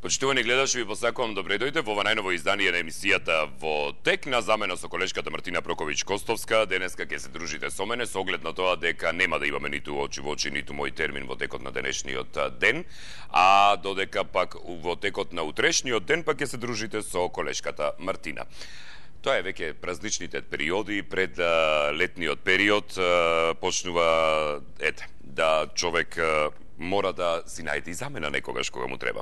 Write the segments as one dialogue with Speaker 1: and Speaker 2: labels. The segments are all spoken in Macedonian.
Speaker 1: Почитувани гледачи, ви посакувам добре дојде во ова најново издание на емисијата Во тек на замена со колешката Мартина Проковиќ-Костовска. Денеска ќе се дружите со мене со оглед на тоа дека нема да имаме ниту очи во очи, ниту мој термин во текот на денешниот ден, а додека пак во текот на утрешниот ден пак ќе се дружите со колешката Мартина. Тоа е веќе празничните периоди, пред летниот период почнува да човек мора да си најде и замена некогаш кога му треба.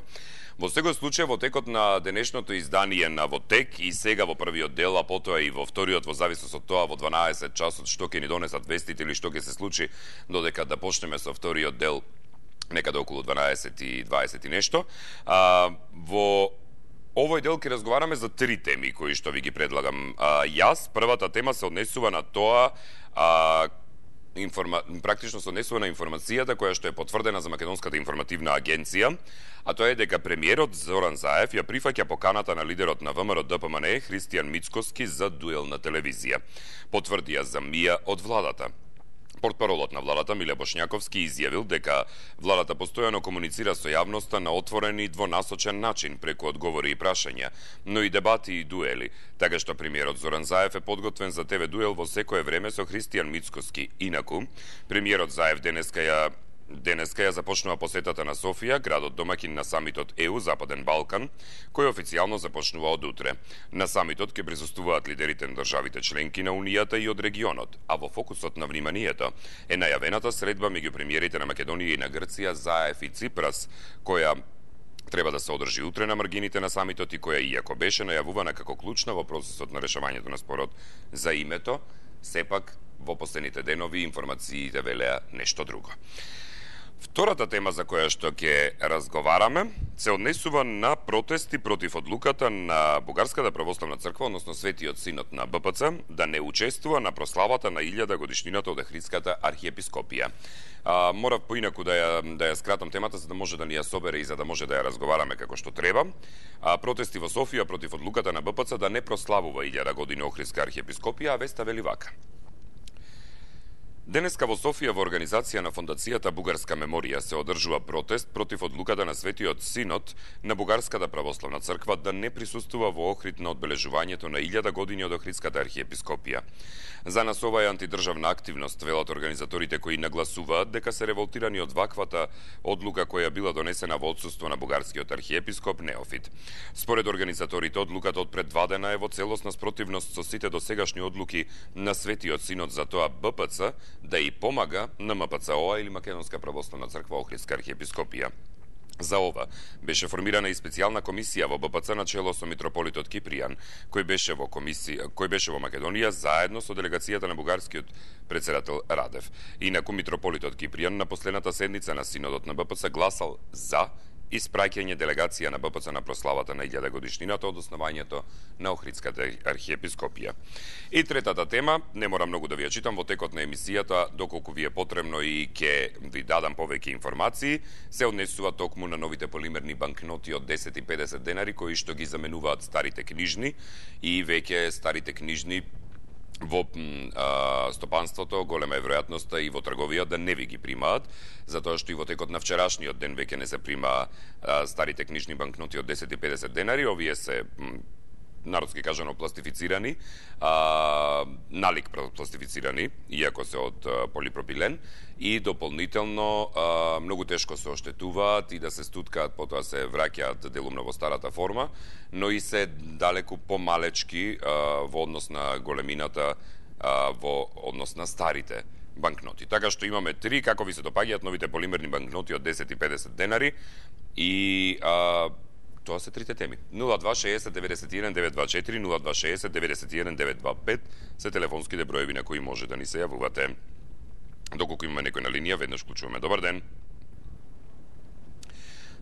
Speaker 1: Во секој случај, во текот на денешното издание на Во тек и сега во првиот дел, а потоа и во вториот, во зависност од тоа во 12 часот што ќе ни донесат вестите или што ќе се случи додека да почнеме со вториот дел некаде околу 12 и 20 и нешто. Во овој дел ќе разговараме за три теми кои што ви ги предлагам јас. Првата тема се однесува на тоа практично се однесува на информацијата која што е потврдена за Македонската информативна агенција, а тоа е дека премиерот Зоран Заев ја прифаќа поканата на лидерот на ВМРО-ДПМНЕ Христијан Мицкоски за дуел на телевизија. Потврди ја за МИА од владата. Портпаролот на владата Миле Бошњаковски изјавил дека владата постојано комуницира со јавноста на отворен и двонасочен начин преку одговори и прашања, но и дебати и дуели. Така што премиерот Зоран Заев е подготвен за ТВ дуел во секое време со Христијан Мицкоски. Инаку, премиерот Заев денеска ја започнува посетата на Софија, градот домаќин на самитот ЕУ Западен Балкан, кој официјално започнува од утре. На самитот ќе присуствуваат лидерите на државите членки на Унијата и од регионот, а во фокусот на вниманието е најавената средба меѓу премиерите на Македонија и на Грција, Заев и Ципрас, која треба да се одржи утре на маргините на самитот и која, иако беше најавувана како клучна во процесот на решавањето на спорот за името, сепак во последните денови информациите велеа нешто друго. Втората тема за која што ќе разговараме се однесува на протести против одлуката на Бугарската православна црква, односно Светиот Синод на БПЦ, да не учествува на прославата на 1000 годишнината од Охридската архиепископија. Морав поинаку да ја скратам темата за да може да ни ја собере и за да може да ја разговараме како што треба. Протести во Софија против одлуката на БПЦ да не прославува 1000 години Охридска архиепископија, а веста вели вака. Денеска во Софија во организација на Фондацијата Бугарска меморија се одржува протест против одлуката на Светиот Синод на Бугарската православна црква да не присуствува во Охрид на одбележувањето на 1000 години од Охридската архиепископија. За нас ова е антидржавна активност, велат организаторите кои нагласуваат дека се револтирани од ваквата одлука која била донесена во отсуство на бугарскиот архиепископ Неофит. Според организаторите, одлуката од пред 2 дена е во целосна спротивност со сите досегашни одлуки на Светиот Синод, за тоа БПЦ да и помага на МПЦО или Македонска православна црква Охридска архиепископија. За ова беше формирана и специјална комисија во БПЦ на чело со митрополитот Кипријан, кој беше во Македонија заедно со делегацијата на бугарскиот претседател Радев. Инаку митрополитот Кипријан на последната седница на синодот на БПЦ гласал за испраќање делегација на БПЦ на прославата на 1000 годишнината од основањето на Охридската архиепископија. И третата тема, не мора многу да ви ја читам во текот на емисијата, доколку ви е потребно и ќе ви дадам повеќе информации, се однесува токму на новите полимерни банкноти од 10 и 50 денари кои што ги заменуваат старите книжни и веќе старите книжни во стопанството голема е веројатноста и во трговија да не ви ги примаат, затоа што и во текот на вчерашниот ден веќе не се прима старите книжни банкноти од 10 и 50 денари, овие се народски кажано пластифицирани, налик пластифицирани, иако се од полипропилен, и дополнително многу тешко се оштетуваат и да се стуткаат, потоа се враќаат делумно во старата форма, но и се далеку помалечки во однос на големината, во однос на старите банкноти. Така што имаме три, како ви се допаѓаат новите полимерни банкноти од 10 и 50 денари и тоа се трите теми. 0260 91 924, 0260 91 925 се телефонските броеви на кои може да ни се јавувате. Доколку имаме некој на линија, веднаш вклучуваме. Добар ден.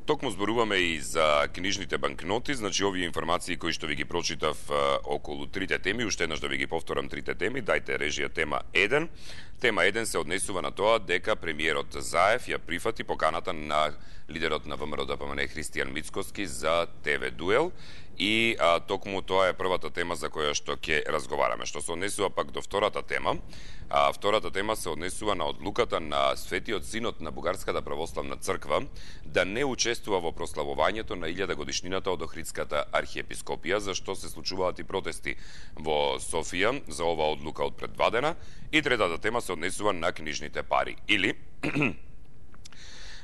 Speaker 1: Токму зборуваме и за книжните банкноти, значи овие информации кои што ви ги прочитав околу трите теми, уште еднаш да ви ги повторам трите теми, дајте режија тема 1. Тема 1 се однесува на тоа дека премиерот Заев ја прифати поканата на лидерот на ВМРО-ДПМНЕ Христијан Мицкоски за ТВ дуел И токму тоа е првата тема за која што ќе разговараме. Што се однесува пак до втората тема, втората тема се однесува на одлуката на Светиот Синот на Бугарската православна црква да не учествува во прославувањето на 1000 годишнината од Охридската архиепископија, за што се случуваат и протести во Софија за оваа одлука од пред 2 дена. И третата тема се однесува на книжните пари. Или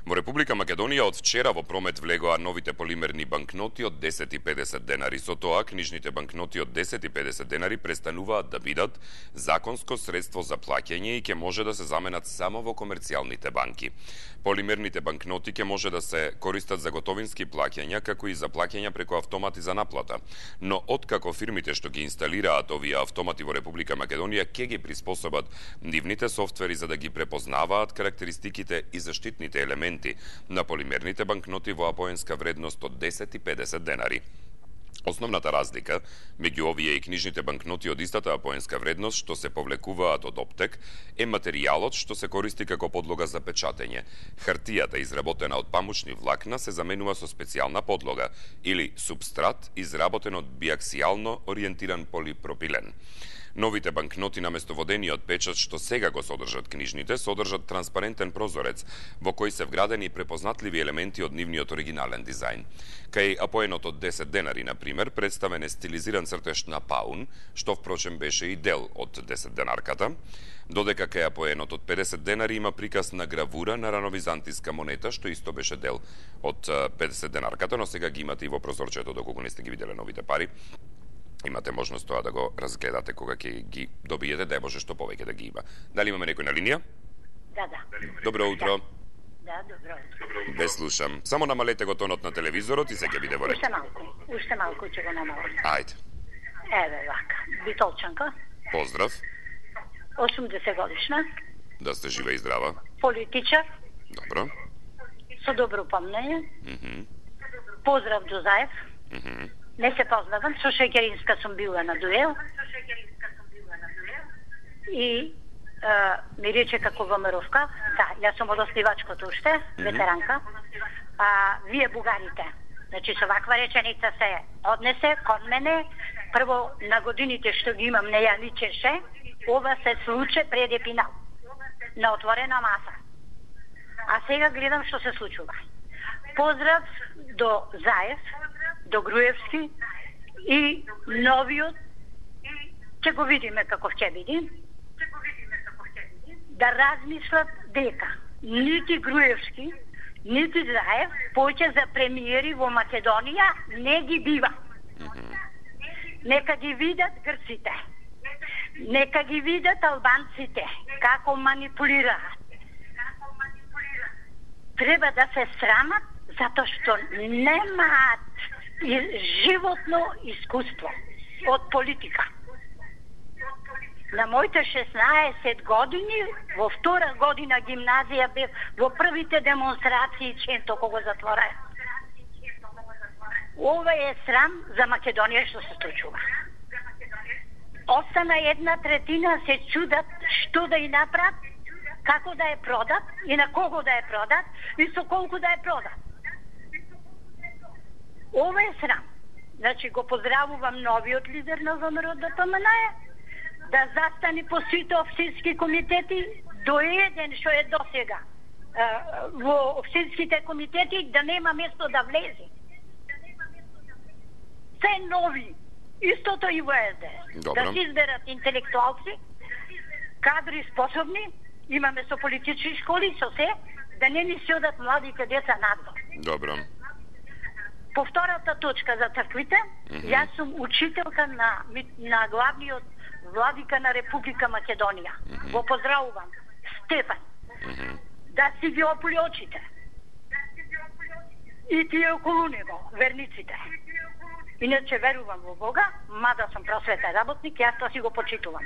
Speaker 1: во Република Македонија од вчера во промет влегоа новите полимерни банкноти од 10 и 50 денари. Со тоа, книжните банкноти од 10 и 50 денари престануваат да бидат законско средство за плаќање и ќе може да се заменат само во комерцијалните банки. Полимерните банкноти ќе може да се користат за готовински плаќања, како и за плаќања преку автомати за наплата. Но откако фирмите што ги инсталираат овие автомати во Република Македонија ќе ги приспособат нивните софтвери за да ги препознаваат карактеристиките и заштитните елементи на полимерните банкноти во апоенска вредност од 10 и 50 денари. Основната разлика меѓу овие и книжните банкноти од истата апоенска вредност што се повлекуваат од оптек е материјалот што се користи како подлога за печатење. Хартијата изработена од памучни влакна се заменува со специјална подлога или субстрат изработен од биаксијално ориентиран полипропилен. Новите банкноти наместо водениот печат што сега го содржат книжните, содржат транспарентен прозорец во кој се вградени препознатливи елементи од нивниот оригинален дизајн. Кај апоенот од 10 денари, на пример, представен е стилизиран цртеж на паун, што впрочем беше и дел од 10 денарката, додека кај апоенот од 50 денари има приказ на гравура на рановизантиска монета, што исто беше дел од 50 денарката, но сега ги имате и во прозорчето, доколку не сте ги виделе новите пари. Имате можност тоа да го разгледате кога ќе ги добиете, дај Боже што повеќе да ги има. Дали имаме некој на линија?
Speaker 2: Да.
Speaker 1: Добро утро.
Speaker 2: Да, добро утро.
Speaker 1: Ве слушам. Само намалете го тонот на телевизорот и се ќе биде во ред.
Speaker 2: Уште малку ќе го намалам.
Speaker 1: Ајде.
Speaker 2: Еве вака. Битолчанка.
Speaker 1: Поздрав.
Speaker 2: 80 годишна.
Speaker 1: Да сте жива и здрава.
Speaker 2: Политичар.
Speaker 1: Добро.
Speaker 2: Со добро помнење. Поздрав до Заев. Не се познавам, со Шекеринска сум била на дуел. И ми рече како ВМРО-вка, да, јас сум од основачкото уште, ветеранка, вие бугарите. Значи, со ваква реченица се однесе кон мене, прво на годините што ги имам не ја личеше, ова се случи пред епинал, на отворена маса. А сега гледам што се случува. Поздрав до Заев, до Груевски и новиот, ќе го видиме како ќе биде, да размислат дека нити Груевски, нити Заев поќе за премиери во Македонија не ги бива. Нека ги видат грците, нека ги видат албанците, како манипулираат. Треба да се срамат, затоа што немаат животно искуство од политика. На моите 16 години, во втора година гимназија бев во првите демонстрации Ченто кога затвораја. Ова е срам за Македонија што се случува. Остана 1/3 се чудат што да и направат, како да ја продат и на кого да ја продат и со колку да ја продат. Ова е срам. Значи го поздравувам новиот лидер на ВМРО ДПМН да застане по сите општински комитети до еден што е досега во општинските комитети да нема место да влезе. Се нови. Истото и во СДС. Да се изберат интелектуалци, кадри способни, имаме со политички школи, со се, да не ни се одат младите деца надвор.
Speaker 1: Добро.
Speaker 2: По втората точка за црквите, јас сум учителка на главниот владика на Република Македонија. Го поздравувам. Стефан. Да си ги опули очите. И тие околу него, верниците. Иначе верувам во Бога, мада сум просветен работник, јас тоа си го почитувам.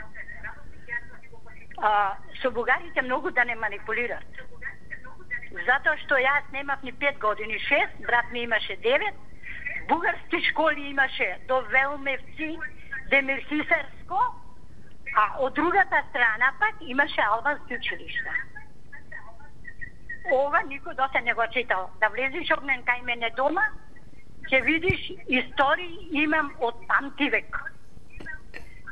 Speaker 2: Со бугарите многу да не манипулират. Затоа што јас немав ни 5 години, 6, брат ми имаше 9, бугарски школи имаше до Велмевци, Демирхисарско, а од другата страна пак имаше албански училишта. Ова никој досе не го читал. Да влезеш огнен кај мене дома, ќе видиш истории имам од памтивек.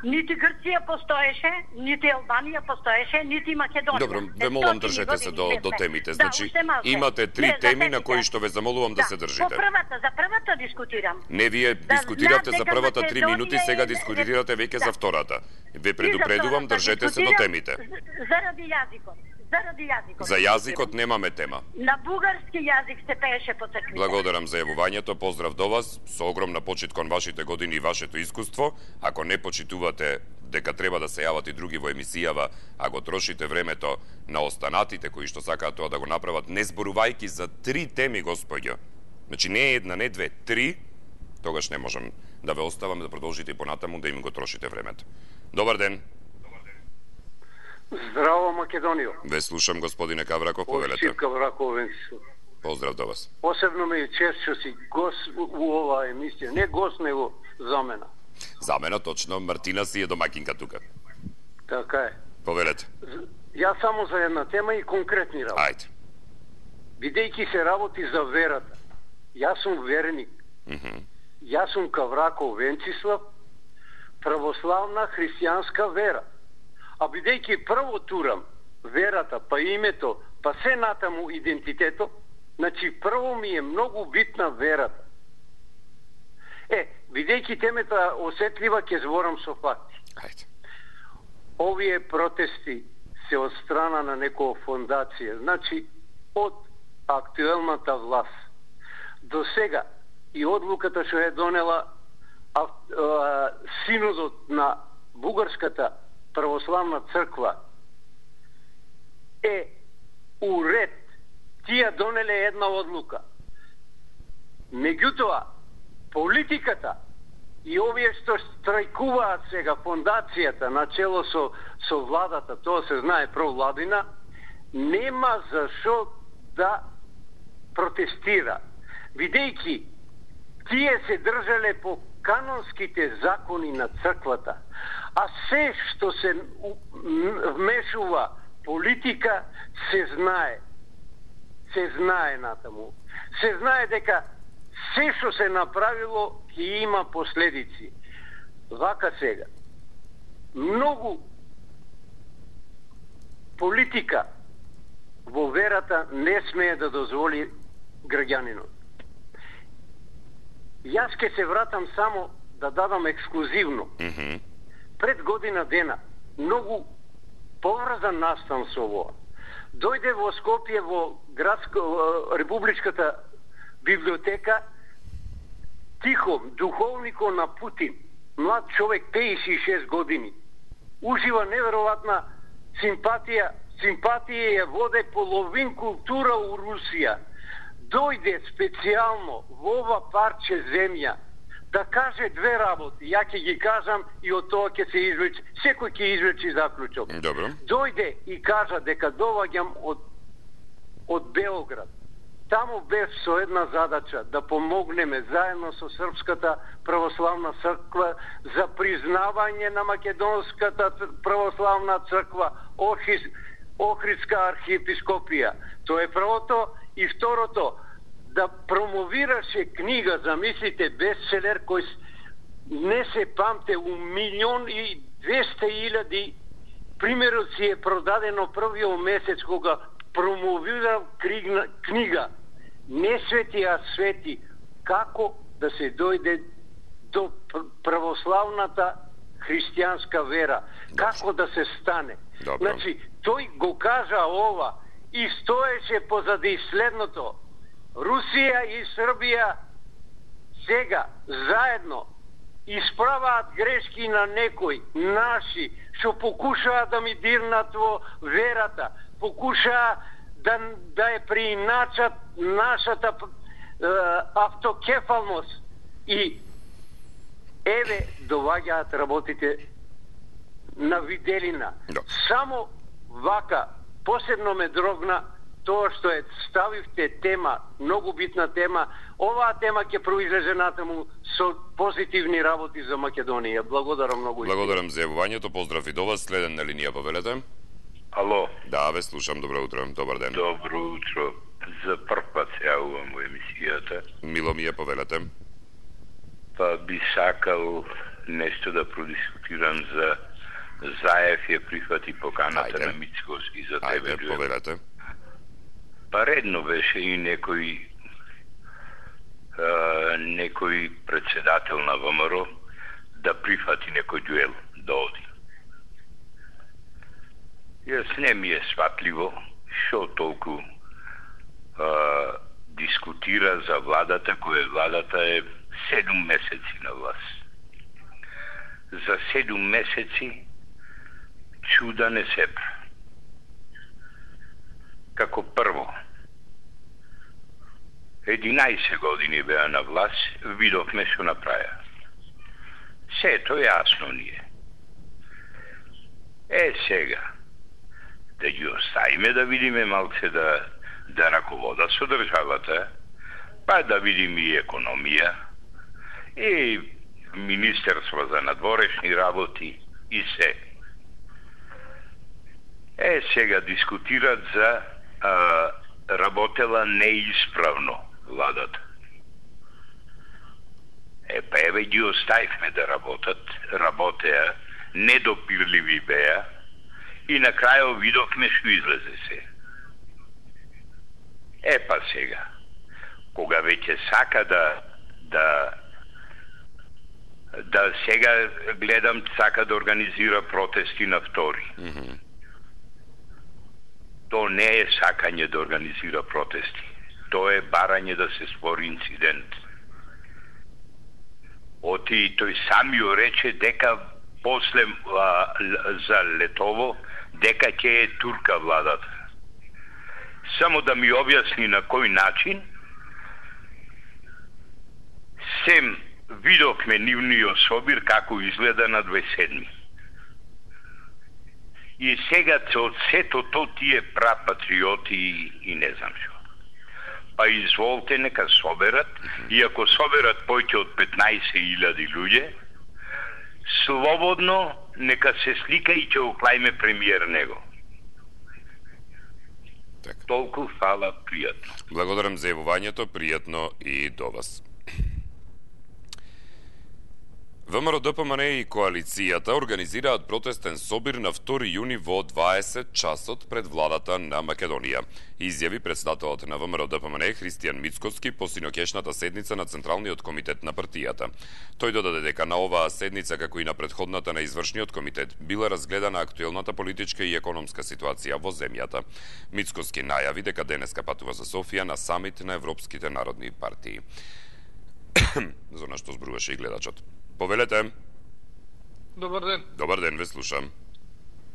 Speaker 2: Нити Грција постоеше, нити Албанија постоеше, нити Македонија.
Speaker 1: Добро, ве молам држете се до темите. Значи, имате 3 теми на кои што ве замолувам да се држите.
Speaker 2: За првата дискутирам.
Speaker 1: Не, вие дискутиравте за првата 3 минути, сега дискутирате веќе за втората. Ве предупредувам, држете се до темите.
Speaker 2: Заради јазикот.
Speaker 1: За јазикот немаме тема.
Speaker 2: На бугарски јазик се пееше по црквите.
Speaker 1: Благодарам за јавувањето, поздрав до вас, со огромна почит кон вашите години и вашето искуство. Ако не почитувате дека треба да се јават и други во емисијава, а го трошите времето на останатите кои што сакаат тоа да го направат, не зборувајќи за 3 теми, господјо. Значи не една, не две, 3, тогаш не можам да ве оставам да продолжите и понатаму да им го трошите времето. Добар ден.
Speaker 3: Здраво, Македонијо.
Speaker 1: Ве слушам, господине Кавраков, повелете.
Speaker 3: Од Кавраков, Венцислав.
Speaker 1: Поздрав до вас.
Speaker 3: Посебно ми е чест што си гост у оваа емисија. Не гост, него замена.
Speaker 1: Замена, точно. Мартина си е домакинка тука.
Speaker 3: Така е.
Speaker 1: Повелете.
Speaker 3: Јас само за една тема и конкретни работи.
Speaker 1: Ајде.
Speaker 3: Бидејќи се работи за верата. Јас сум верник. Јас сум Кавраков Венцислав, православна христијанска вера. А бидејќи прво турам верата, па името, па се натаму идентитето, значи прво ми е многу битна верата. Бидејќи темата осетлива, ќе зборам со факти.
Speaker 1: Ајде.
Speaker 3: Овие протести се од страна на некоја фондација, значи од актуелната власт. До сега и одлуката што е донела синодот на Бугарската православна црква е уред. Тие донеле една одлука. Меѓутоа, политиката и овие што страјкуваат сега, фондацијата начело со владата, тоа се знае провладина, нема зашо да протестира. Видејќи тие се држале по канонските закони на црквата, а се што се вмешува политика се знае. Се знае натаму. Се знае дека се што се направило ќе има последици. Вака сега. Многу политика во верата не смее да дозволи граѓанинот. Јас ке се вратам само да дадам ексклузивно. Пред година дена, многу поврзан настан со ово. Дојде во Скопје, во Републичката библиотека, Тихом, духовнико на Путин, млад човек, 56 години. Ужива неверојатна симпатија ја воде половин култура у Русија. Дојде специјално во ова парче земја да каже 2 работи. Ја ќе ги кажам и од тоа ќе се извлече, секој ќе извлече заклучок.
Speaker 1: Добро.
Speaker 3: Дојде и кажа дека доваѓам од Белград. Таму бев со една задача да помогнеме заедно со Српската православна црква за признавање на Македонската православна црква, Охридска архиепископија. Тоа е првото. И второто, да промовираше книга, замислите, бестселер, кој не се памте, у 1.200.000 примерот си е продадено првиот месец кога промовира книга Не свети, а свети, како да се дојде до православната христијанска вера, како да се стане. Значи, тој го кажа ова и стоеше позади следното. Русија и Србија сега заедно исправаат грешки на некои наши што покушаат да ми дирнат во верата, покушаат да ја прииначат нашата автокефалност и еве доваѓаат работите на виделина. Само вака посебно ме дрогна тоа што ставивте тема, многу битна тема. Оваа тема ќе произлезе натаму со позитивни работи за Македонија. Благодарам многу.
Speaker 1: Благодарам за јавувањето. Поздрав и до вас. Следен на линија, повелете.
Speaker 4: Ало.
Speaker 1: Да, ве слушам. Добро утро. Добар ден.
Speaker 4: Добро утро. За прв пат се јавувам во емисијата.
Speaker 1: Мило ми е, повелете.
Speaker 4: Па би сакал нешто да продискутирам за Заев ја прифати поканата на Мицкоски за тебе.
Speaker 1: Ајде, повелете.
Speaker 4: Па редно беше и некој председател на ВМРО да прифати некој дуел, да оди. Јас не ми е сватливо шо толку дискутира за владата, која владата е 7 месеци на власт. За 7 месеци чуда не се прави. Како прво, 11 години беа на власт, видовме што направија. Сето јасно ни е. Сега, да ги оставиме да видиме малце да раковода со државата, па да видиме и економија, и Министерство за надворешни работи, и се. Сега дискутират за работела неисправно владата. Па еве ги оставивме да работеа, недопирливи беа, и на крајот видовме што излезе се. Па сега, кога веќе сака да сега гледам сака да организира протести на 2. То не е сакање да организира протести. То е барање да се спори инцидент. Тој самиот рече дека после за летово дека ќе е турка владата. Само да ми објасни на кој начин сем видовме нивниот собир како изгледа на 27. И сега од сето то тие прапатриоти и не знам што. Па изволте нека соберат, и ако соберат поќе од 15.000 луѓе, слободно нека се слика и ќе уклајме премиер него. Толку фала, пријатно.
Speaker 1: Благодарам за јавувањето, пријатно и до вас. ВМРО ДПМН и коалицијата организираат протестен собир на 2 јуни во 20 часот пред владата на Македонија. Изјави председателот на ВМРО ДПМН Христијан Мицкоски по синоќешната седница на Централниот комитет на партијата. Тој додаде дека на оваа седница, како и на претходната на извршниот комитет, била разгледана актуелната политичка и економска ситуација во земјата. Мицкоски најави дека денеска патува за Софија на самит на европските народни партии. За нашто зборуваше и гледачот. Повелете.
Speaker 5: Добар ден.
Speaker 1: Добар ден, ве слушам.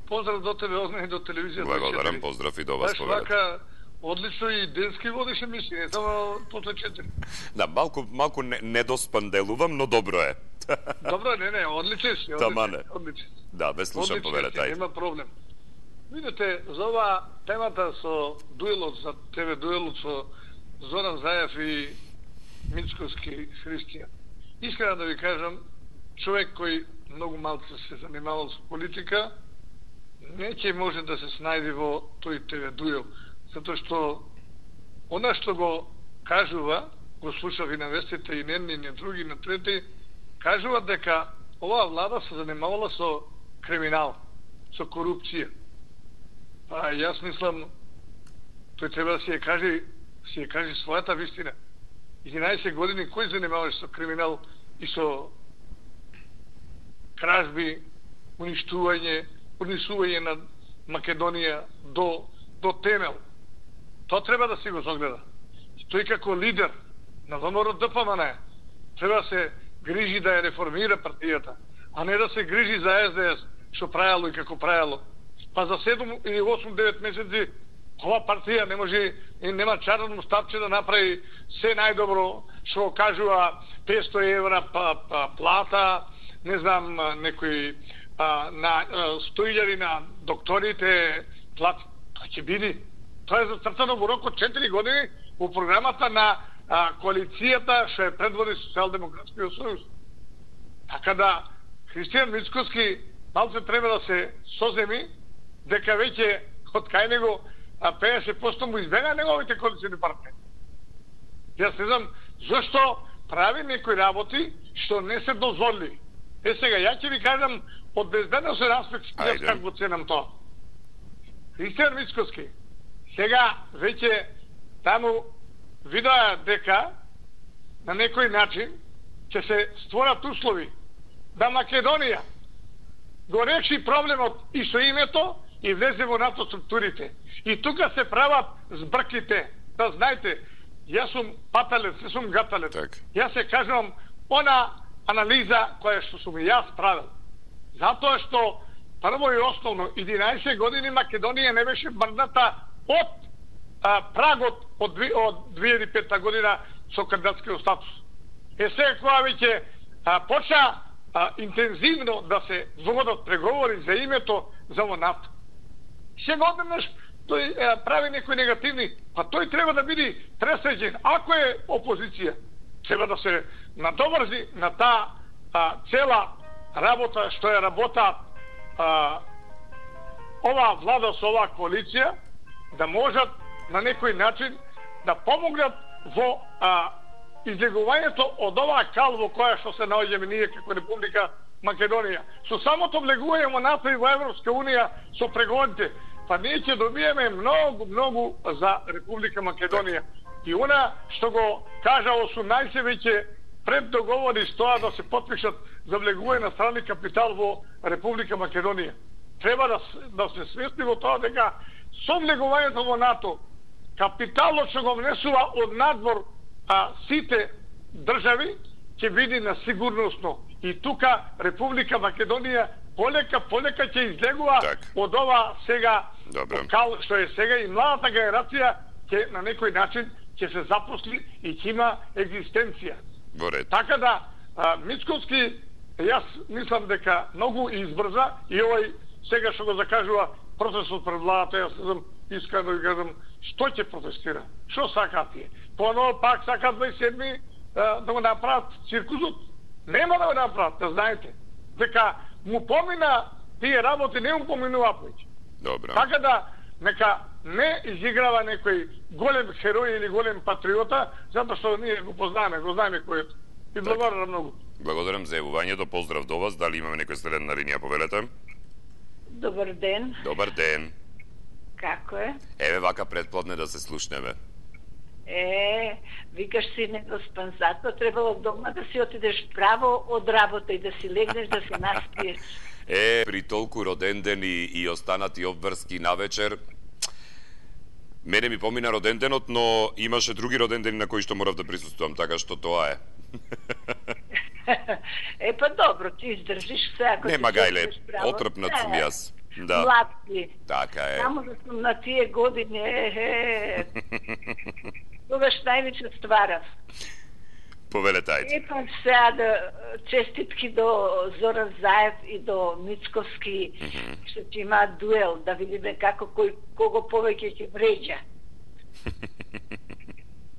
Speaker 5: Поздрав до тебе, Огне, и до телевизија.
Speaker 1: Благодарам, поздрав и до вас, повелете.
Speaker 5: Баш вака, одлично и денски водиш емисија, не само после 4.
Speaker 1: Да, малку недоспан делувам, но добро е.
Speaker 5: Добро, не, одличен си.
Speaker 1: Тамане.
Speaker 5: Одличен.
Speaker 1: Да, ве слушам, повелете.
Speaker 5: Нема проблем. Видите, за ова темата со дуелот, за тебе дуелот со Зоран Заев и Мицкоски Христијан. Искрено да ви кажам, човек кој многу малку се занимавал со политика, не ќе може да се снајде во тој ТВ дуел, затоа што она што го кажува, го слушав и на вестите, и не други, на трети, кажува дека оваа влада се занимавала со криминал, со корупција. Па јас мислам, тој треба да си ја каже својата вистина. 11 години кој занимаваше со криминал и со кражби, унисување на Македонија до темел. Тоа треба да си го согледа. Тој како лидер на ВМРО ДПМН треба да се грижи да ја реформира партијата, а не да се грижи за СДС, што правело и како правело. Па за 7 или 8-9 месеци ова партија не може и нема чарно стапче да направи се најдобро, што кажува 500 евра плата, не знам, некои на 100.000 на докторите плата. Тоа ќе биде. Тоа е зацртано во рок од 4 години во програмата на коалицијата што е предводи Социјалдемократскиот сојуз. Така да Христијан Мицкоски малце треба да се соземи дека веќе од кај него 50% му избега неговите коалициони партнери. Јас не знам зашто прави некои работи што не се дозволили. Сега, ја ќе ви кажам од безбедносен аспект јас како го ценам тоа. Христијан Мицкоски, сега веќе таму видоа дека на некој начин ќе се створат услови да Македонија го реши проблемот и со името и влезе во НАТО структурите. И тука се прават збрките. Да знаете, јас сум паталец, не сум гаталец.
Speaker 1: Так.
Speaker 5: Јас се кажувам она анализа која што сум јас правил. Затоа што прво и основно 11 години Македонија не беше мрдната од прагот од 2005 година со кандидатскиот статус. Сега кога веќе почна интензивно да се водат преговори за името за НАТО. Сега однаш тој прави некои негативни, па тој треба да биде пресреđен. Ако е опозиција, треба да се надоврзи на таа цела работа што е работа оваа влада со оваа коалиција, да можат на некој начин да помогнат во излегувањето од оваа кал во која што се наоѓаме ние како Република Македонија. Со самото влегување во НАТО и во Европска Унија со преговорите, па ние ќе добиеме многу за Република Македонија. И она што го кажа 18 веќе пред договори стоа да се потпишат за влегување на страни капитал во Република Македонија. Треба да се свесни во тоа дека со влегувањето во НАТО капиталот што го внесува од надвор сите држави ќе биде на сигурносно. И тука Република Македонија полека ќе излегува од ова сега кал што е сега и младата генерација ќе на некој начин ќе се запосли и ќе има екзистенција. Така да Мицкоски, јас мислам дека многу избрза и овој сега што го закажува процесот пред владата, јас сум искрено да кажам што ќе протестира. Што сакаат тие? Поново пак сакаат 27 да го направат циркузот. Нема да го направат, да знаете. Дека му помина тие работи, не му поминува повеќе.
Speaker 1: Добро.
Speaker 5: Така да нека не изиграва некој голем херој или голем патриота, затоа што ние го знаеме кој е. И благодарам многу.
Speaker 1: Благодарам за јавувањето, поздрав до вас. Дали имаме некој следен на линија, повелете?
Speaker 6: Добар ден.
Speaker 1: Добар ден.
Speaker 6: Како е?
Speaker 1: Еве вака предплодне да се слушнеме.
Speaker 6: Викаш си недоспан, затоа требало дома да си отидеш право од работа и да си легнеш да се наспиеш.
Speaker 1: При толку роден ден и останати обврски навечер, мене ми помина роден денот, но имаше други роден дени на кои што морав да присуствувам, така што тоа е.
Speaker 6: Па добро, ти издржиш се, ако
Speaker 1: нема гајле, отрпнат сум јас. Да.
Speaker 6: Млад си.
Speaker 1: Така е.
Speaker 6: Само да сум на тие години, тогаш највеќе стварав.
Speaker 1: Повелете, ајде.
Speaker 6: Па сега да честитки до Зоран Заев и до Мицковски, што ќе имаат дуел, да видиме како кого повеќе ќе вреđа.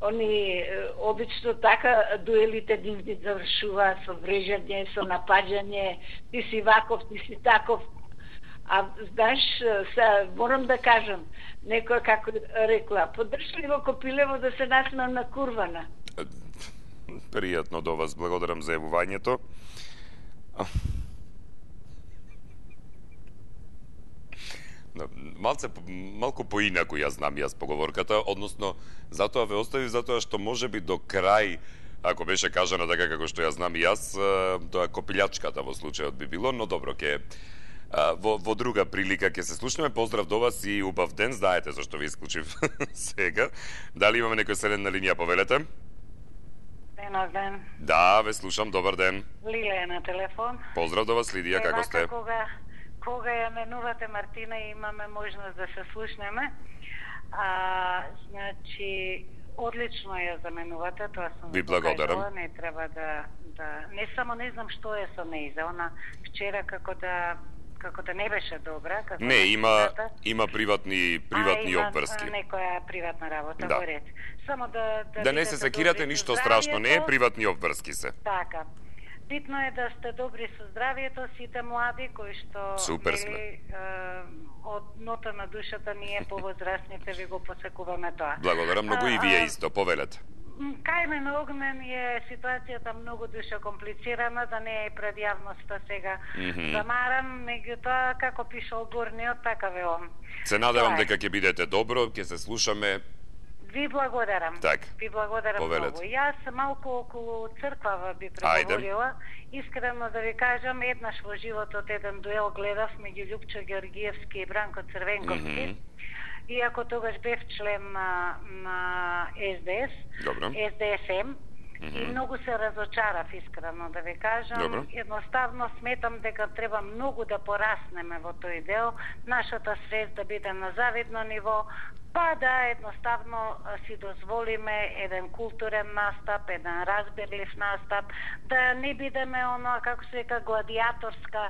Speaker 6: Они обично така дуелите нивни завршуваат со врежање, со напаѓање, ти си ваков, ти си таков. А знаеш, морам да кажам, некоја како рекла, поддржали го Копилево да се насмеам на курвана.
Speaker 1: Пријатно до вас, благодарам за јавувањето. Малку поинаку ја знам јас поговорката, односно затоа ве остави, затоа што може би до крај, ако беше кажано така како што ја знам јас, тоа копилјачката во случајот би било, но добро, во друга прилика ќе се слушнеме. Поздрав до вас и убав ден, знаете зашто ви исклучив сега. Дали имаме некој седен на линија, повелете?
Speaker 2: Денов ден.
Speaker 1: Да, ве слушам, добар ден.
Speaker 2: Лилија на телефон.
Speaker 1: Поздрав до вас, Лидија, како сте?
Speaker 2: Кога ја менувате Мартина и имаме можност да се слушнеме, значи, одлично ја заменувате, тоа сум
Speaker 1: ви благодарам.
Speaker 2: Не треба да не само не знам што е со нејза, она вчера како да не беше добра.
Speaker 1: Не, има приватни обврски.
Speaker 2: Некоја приватна работа,
Speaker 1: да.
Speaker 2: Во ред. Само
Speaker 1: да не се секирате, ништо страшно, не е, приватни обврски се.
Speaker 2: Така. Битно е да сте добри со здравието, сите млади кои што
Speaker 1: супер сме.
Speaker 2: Од нота на душата ние повозрастните ви го посекуваме тоа.
Speaker 1: Благодарам многу и вие исто, повелете.
Speaker 2: Кај мен Огнен е ситуацијата многу душе комплицирана, да не е пред јавноста сега замарам, меѓутоа како пишал горниот, така велам.
Speaker 1: Се надевам дека ќе бидете добро, ќе се слушаме.
Speaker 2: Ви благодарам.
Speaker 1: Так.
Speaker 2: Ви благодарам
Speaker 1: Повелете.
Speaker 2: многу. Јас малку околу црквава би преговорила. Искрено да ви кажам, еднаш во животот еден дуел гледав меѓу Љупчо Георгиевски и Бранко Црвенковски. Иако тогаш бев член на СДС, СДСМ, и многу се разочарав, искрено да ви кажам.
Speaker 1: Добро.
Speaker 2: Едноставно сметам дека треба многу да пораснеме во тој дел, нашата свест да биде на завидно ниво, па да едноставно си дозволиме еден културен настап, еден разбирлив настап, да не бидеме оно, како се века, гладиаторска,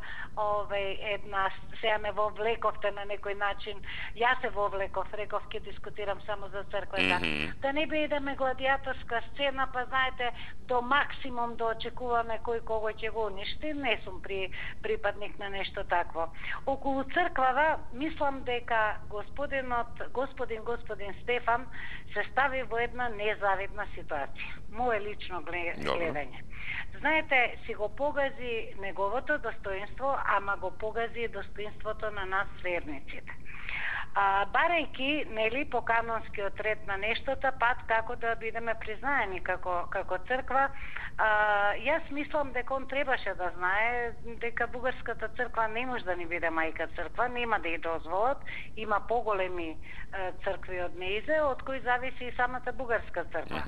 Speaker 2: една, сега ме вовлековте на некој начин, јас се вовлеков, реков, ќе дискутирам само за црквата, да не бидеме гладиаторска сцена, па знаете, до максимум да очекуваме кој кого ќе го уништи, не сум припадник на нешто такво. Околу црквава, мислам дека господин Стефан се стави во една незавидна ситуација. Мое лично гледање. Знаете, си го погази неговото достоинство, ама го погази и достоинството на нас верниците. Барајки, нели, по канонскиот ред на нештото, пат како да бидеме признаени како црква, јас мислам дека он требаше да знае дека бугарската црква не може да ни биде мајка црква, нема да ја дозволат, има поголеми цркви од неизе, од кои зависи и самата бугарска црква.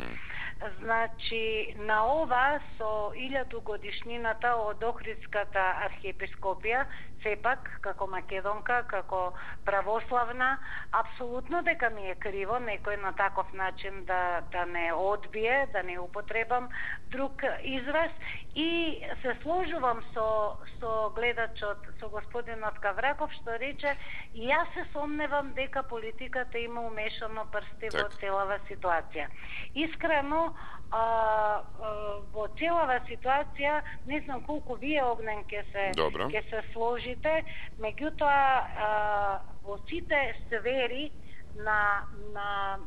Speaker 2: Значи, на ова со 1000 годишнината од Охридската архиепископија, сепак, како македонка, како православна, апсолутно дека ми е криво некој на таков начин да не одбие, да не употребам друг израз, и се сложувам со гледачот, со господинот Кавраков, што рече, и јас се сомневам дека политиката има умешано прсти во целава ситуација. Искрено, во целава ситуација, не знам колку вие, Огнен, ќе се сложите, меѓутоа во сите сфери на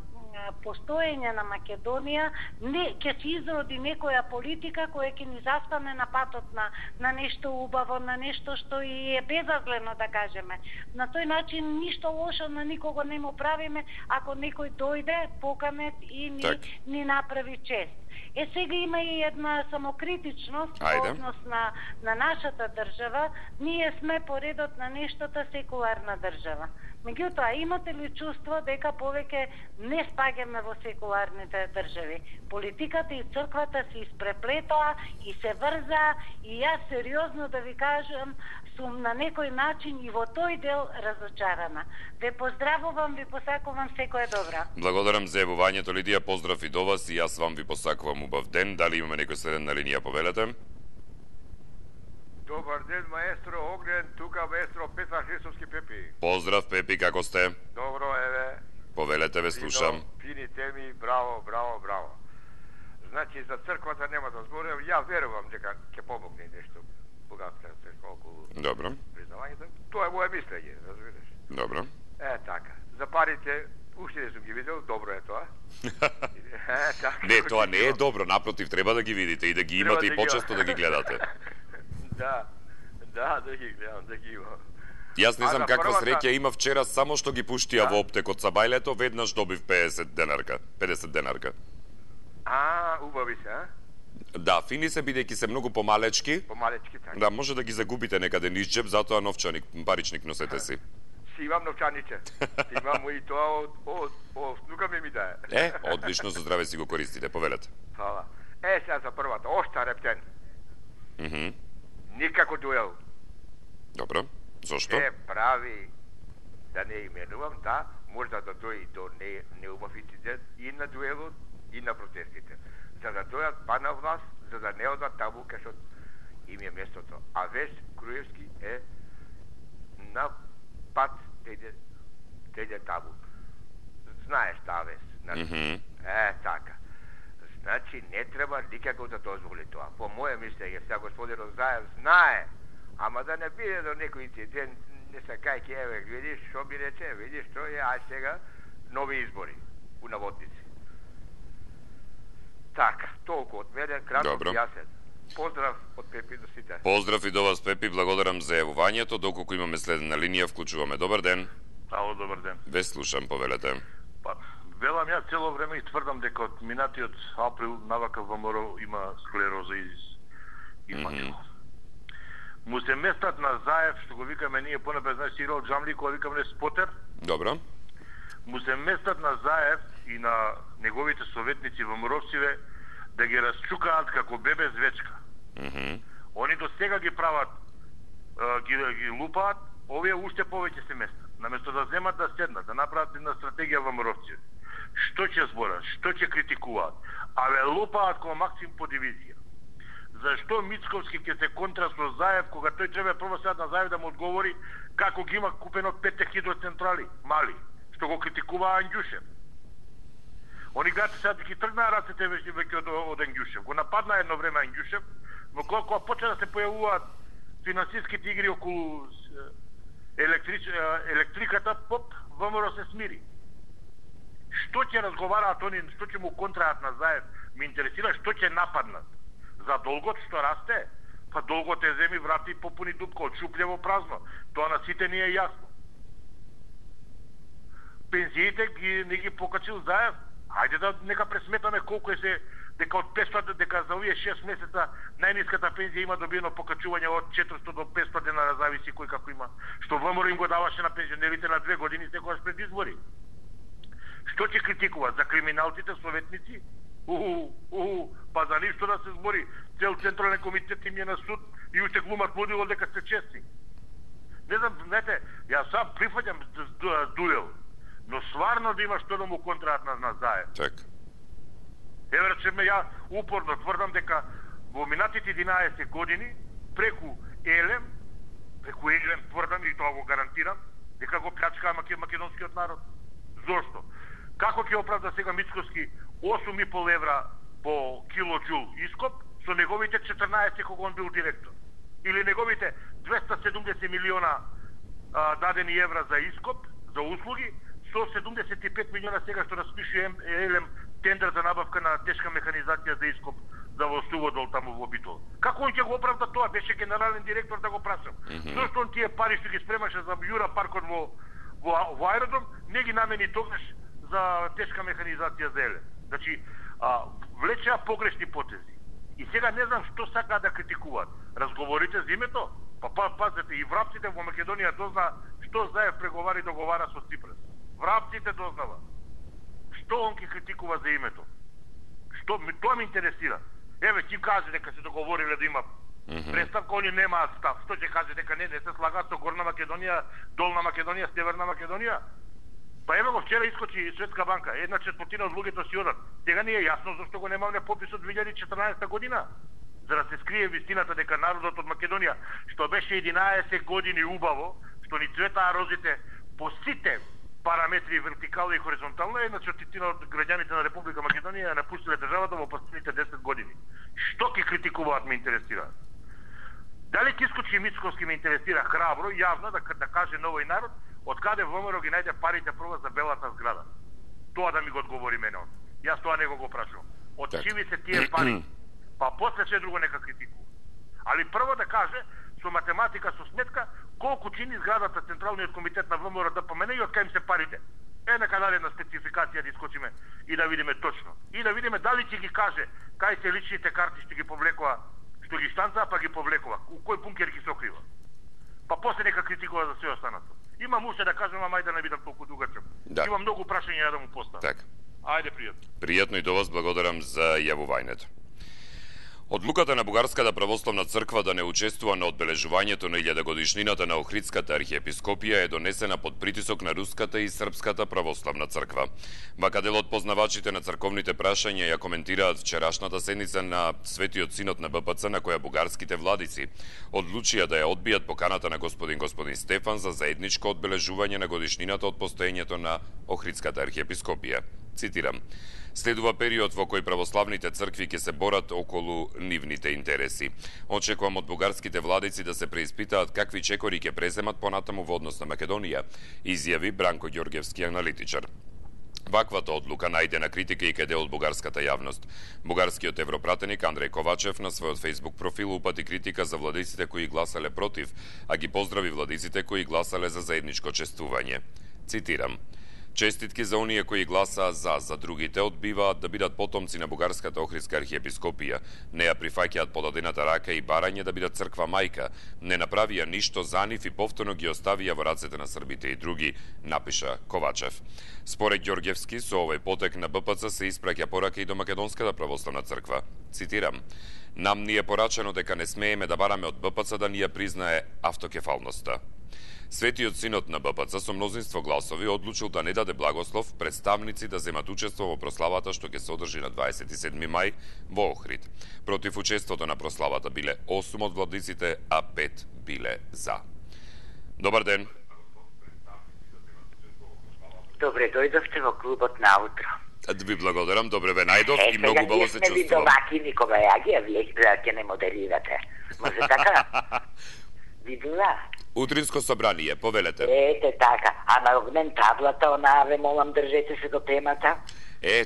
Speaker 2: постоење на Македонија ќе се изроди некоја политика која ќе ни застане на патот на нешто убаво, на нешто што и е безазлено, да кажеме. На тој начин ништо лошо на никого не му правиме ако некој дојде, поканет и ни направи чест. Сега има и една самокритичност во однос на нашата држава. Ние сме по редот на нештото секуларна држава. Меѓутоа, имате ли чувство дека повеќе не спаѓаме во секуларните држави? Политиката и црквата се испреплетоа и се врза, и јас сериозно да ви кажам, сум на некој начин и во тој дел разочарана. Ве поздравувам, ви посакувам секое добро.
Speaker 1: Благодарам за јавувањето, Лидија, поздрав и до вас, и јас вам ви посакувам убав ден. Дали имаме некој следен на линија, повелете?
Speaker 7: Добар ден, маестро Огнен, тука маестро Петар Христовски Пепи.
Speaker 1: Поздрав, Пепи, како сте?
Speaker 7: Добро, еве.
Speaker 1: Повелете, ве слушам.
Speaker 7: Фини теми, браво, браво, браво. Значи, за црквата нема да зборам, ја верувам дека ќе помогне нешто бугарска црква околу признавањето. Тоа е моје мислење, разбираш.
Speaker 1: Добро.
Speaker 7: Така. За парите, уште не сум ги видел, добро е тоа.
Speaker 1: Не, тоа не е добро, напротив, треба да ги видите и да ги имате и почесто да ги гледате.
Speaker 7: Да ги гледам, да ги имам.
Speaker 1: Јас не знам каква среќа има вчера, само што ги пуштија во оптекот са бајлето, веднаш добив 50 денарка.
Speaker 7: Убави се,
Speaker 1: Да, фини се бидејќи се многу помалечки.
Speaker 7: Помалечки, така.
Speaker 1: Да, може да ги загубите некаде низ џеб, затоа новчаник, паричник носете си.
Speaker 7: Си имам новчаниче. Имам и тоа од внука ми дае.
Speaker 1: Одлично, со здраве си го користите, повелете.
Speaker 7: Фала. Сега за првата, Оштар Рептен. Никако дуел.
Speaker 1: Добро. Зошто?
Speaker 7: Се прави, да не именувам, можда да дојде до неубав инцидент и на дуелот, и на протестите. За да дојат па на власт, за да не одат таму кај што им е местото. А Вес Груевски е на пат тејде таму. Знаеш таа Вес. Така. Значи, не треба никако да дозволи тоа. По моје мислење, сега господинот Заев знае, ама да не биде до некој инцидент, не се кајки, еве, видиш, што ми рече, видиш, што е, сега, нови избори, у наводници. Така, толку од мене, кратко
Speaker 1: Добро.
Speaker 7: и јасен. Поздрав од Пепи до сите.
Speaker 1: Поздрав и до вас, Пепи, благодарам за јавувањето. Доколку имаме следна линија, вклучуваме. Добар ден.
Speaker 8: Ало, добар ден.
Speaker 1: Ве слушам, повелете.
Speaker 8: Па, велам ја цело време и тврдам дека од минатиот април навака ВМРО има склероза и мачко. Му се местат на Заев, што го викаме ние понапред, знаеш, Сирал Джамли, кој викаме Спотер,
Speaker 1: Добро.
Speaker 8: му се местат на Заев и на неговите советници ВМРО-циве да ги расчукаат како бебе звечка. Они до сега ги прават, ги лупаат, овие уште повеќе се местат. Наместо да земат да седнат, да направат една стратегија ВМРО-циве. Што ќе зборат, што ќе критикуваат, аве лупаат како Максим по дивизија. Зашто Мицковски ќе се контра со Заев, кога тој треба прво сега на Заев да му одговори како ги има купено 5 хидроцентрали, мали, што го критикуваа Андјушев. Они гати сега ги тргнаа рацете веќе од Андјушев. Го нападна едно време Андјушев, но кога почна да се појавуваат финансиските игри околу електриката, поп, ВМРО се смири. Што ќе разговараат они, што ќе му контраат на Заев, ме интересира што ќе нападнат. За долгот што расте, па долгот е земи, врати и попуни дупка, од шуплево празно. Тоа на сите ни е јасно. Пензиите не ги покачил Заев. Хајде да нека пресметаме колку е се, дека од 500, дека за овие 6 месеца најниската пензија има добиено покачување од 400 до 500 денара, зависи кој како има. Што ВМРО им го даваше на пензионерите на 2 години секогаш пред избори. Што ќе критикуваат? За криминалците, советници? Па за ништо да се збори. Цел Централен комитет им е на суд и уште глумат лудило дека се честни. Не знам, знаете, јас сам прифаќам дуел, но сварно да има што да му контраат на Заев.
Speaker 1: Така.
Speaker 8: Еве речеме, ја упорно тврдам дека во минатите 11 години преку Елем тврдам и тоа го гарантирам, дека го плячкаа македонскиот народ. Зошто? Како ќе оправда сега Мицковски 8,5 евра по килоджул ископ со неговите 14 кога он бил директор? Или неговите 270 милиона дадени евра за ископ, за услуги, со 75 милиона сега што распише Елем тендер за набавка на тешка механизација за ископ за во Суводол таму во Битол. Како он ќе го оправда тоа? Беше генерален директор, да го прашам. Зошто он тие пари што ги спремаше за Јура паркот во аеродром, не ги намени тогаш за тешка механизација за Елем? Значи, влечеа погрешни потези. И сега не знам што сакаат да критикуваат. Разговорите за името? Па пазете, и врапците во Македонија дозна што Заев преговари и договара со Ципрас. Врапците дознава. Што он ќе критикува за името? Тоа ме интересира. Еве, ќе каже дека се договориле да има преставка, они немаат став. Што ќе каже дека не се слагаат со Горна Македонија, Долна Македонија, Северна Македонија? Па еве го вчера искочи Светска банка, 1/4 од луѓето си одат. Сега не е јасно зашто го немаме попис од 2014 година. За да се скрие вистината дека народот од Македонија, што беше 11 години убаво, што ни цветаа розите по сите параметри вертикално и хоризонтално, 1/4 од граѓаните на Република Македонија напуштиле државата во последните 10 години. Што ќе критикуваат, ме интересира. Дали ќе искочи Мицковски, ме интересира храбро, јавно да каже на овој народ од каде ВМРО ги најде парите прво за белата зграда. Тоа да ми го одговори мене он. Јас тоа не го прашувам. Од чиви се тие пари? Па после се друго нека критикува. Али прво да каже со математика, со сметка, колку чини зградата Централниот комитет на ВМРО ДПМН и од кај им се парите. Нека даде една спецификација да искочиме и да видиме точно. И да видиме дали ќе ги каже кај се личните карти што ги повлекува, што ги штанца, па ги повлекува. У кој бункер ги сокрива. Па после нека критикува за се останато. Имам уште да кажам, ама ајде да не бидам толку дугачок.
Speaker 1: Да.
Speaker 8: Имам многу прашања да му поставам.
Speaker 1: Така.
Speaker 8: Ајде, пријатно.
Speaker 1: Пријатно и до вас, благодарам за јавувањето. Одлуката на Бугарската православна црква да не учествува на одбележувањето на 1000-годишнината на Охридската архиепископија е донесена под притисок на Руската и Српската православна црква. Вака дел од познавачите на црковните прашања ја коментираат вчерашната седница на Светиот Синод на БПЦ, на која бугарските владици одлучија да ја одбијат поканата на господин Стефан за заедничко одбележување на годишнината од постоењето на Охридската архиепископија. Цитирам: "Следува период во кој православните цркви ќе се борат околу нивните интереси. Очекувам од бугарските владици да се преиспитаат какви чекори ќе преземат понатаму во однос на Македонија", изјави Бранко Ѓорѓевски, аналитичар. Ваквата одлука најдена критика и кај дел од бугарската јавност. Бугарскиот европратеник Андреј Ковачев на својот Facebook профил упати критика за владиците кои гласале против, а ги поздрави владиците кои гласале за заедничко чествување. Цитирам: "Честитки за оние кои гласаа за другите одбиваат да бидат потомци на бугарската Охридска архиепископија. Не ја прифаќаат подадената рака и барање да бидат црква мајка. Не направија ништо за нив и повторно ги оставија во рацете на србите и други", напиша Ковачев. Според Ѓорѓевски, со овој потек на БПЦ се испраќа порака и до Македонската православна црква. Цитирам: "Нам ни е порачено дека не смееме да бараме од БПЦ да ни ја признае автокефалноста." Светиот синод на БПЦ со мнозинство гласови одлучил да не даде благослов представници да земат учество во прославата што ќе се одржи на 27 мај во Охрид. Против учеството на прославата биле 8 од владиците, а 5 биле за. Добар ден.
Speaker 9: Добре дојдовте во клубот наутро.
Speaker 1: Да ви благодарам, добре ве најдов и многу убаво се
Speaker 9: чувствувам. Вие сме ви домакини кога вие ќе не модерирате. Може така? Видела?
Speaker 1: Утринско собрание, повелете.
Speaker 9: Ете така, а на огнен таблата, онаа ве молам, држете се до темата.